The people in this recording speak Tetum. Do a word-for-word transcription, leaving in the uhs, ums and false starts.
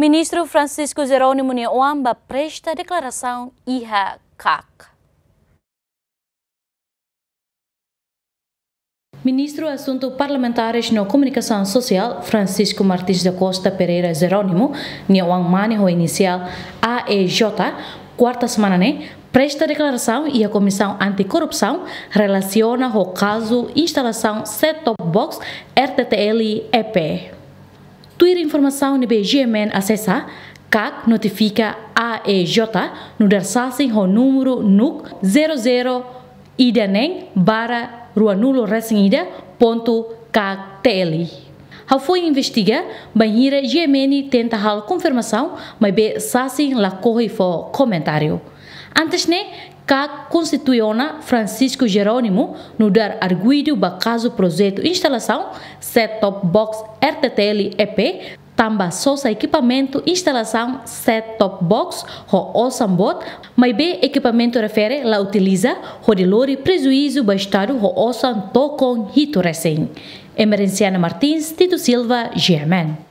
Ministru Francisco Jerónimo nia oan ba presta deklarasaun iha KAK. Ministru Asuntu Parlamentares no Komunikasaun Sosiál, Francisco Martins da Costa Pereira Jerónimo, nia oan mane ho inisiál A E J, kuarta semana ne'e, presta deklarasaun iha Komisaun Antikorrupsaun relasiona ho kazu instalasaun set-top box R T T L E P. Tuir informasaun ne'ebé G M N asesa, KAK notifika A E J nu'udar sasin ho númeru NUC zero zero ida neen barra ruanulu resin ida ponto KAK T L. Ha'u foin investiga bainhira G M N tenta halo konfirmasaun, maibé sasin lakohi fó komentáriu. Antes ne'e, KAK konstitui ona Francisco Jerónimo nu'udar arguidu ba kazu projetu instalasaun set-top box R T T L E P, tanba sosa ekipamentu instalasaun set-top box ho osan boot, maibé ekipamentu refere la utiliza, hodi lori prejuízu ba Estadu ho osan tokon hitu resin. Emerenciana Martins, Tito Silva, G M N.